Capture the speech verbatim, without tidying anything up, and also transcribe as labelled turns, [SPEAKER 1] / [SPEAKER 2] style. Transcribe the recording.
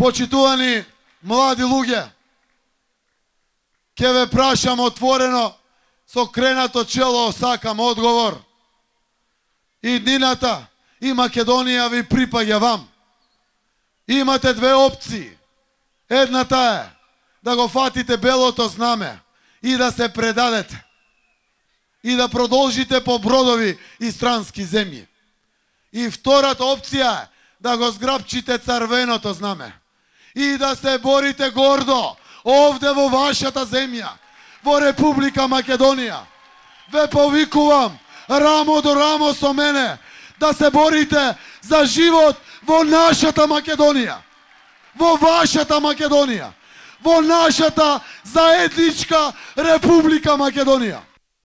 [SPEAKER 1] Почитувани млади луѓе, ќе ве прашам отворено, со кренато чело сакам одговор. И днината и Македонија ви припаѓа вам. Имате две опции. Едната е да го фатите белото знаме и да се предадете. И да продолжите по бродови и странски земји. И втората опција е да го зграпчите црвеното знаме. И да се борите гордо овде во вашата земја, во Република Македонија. Ве повикувам рамо до рамо со мене да се борите за живот во нашата Македонија, во вашата Македонија, во нашата заедничка Република Македонија.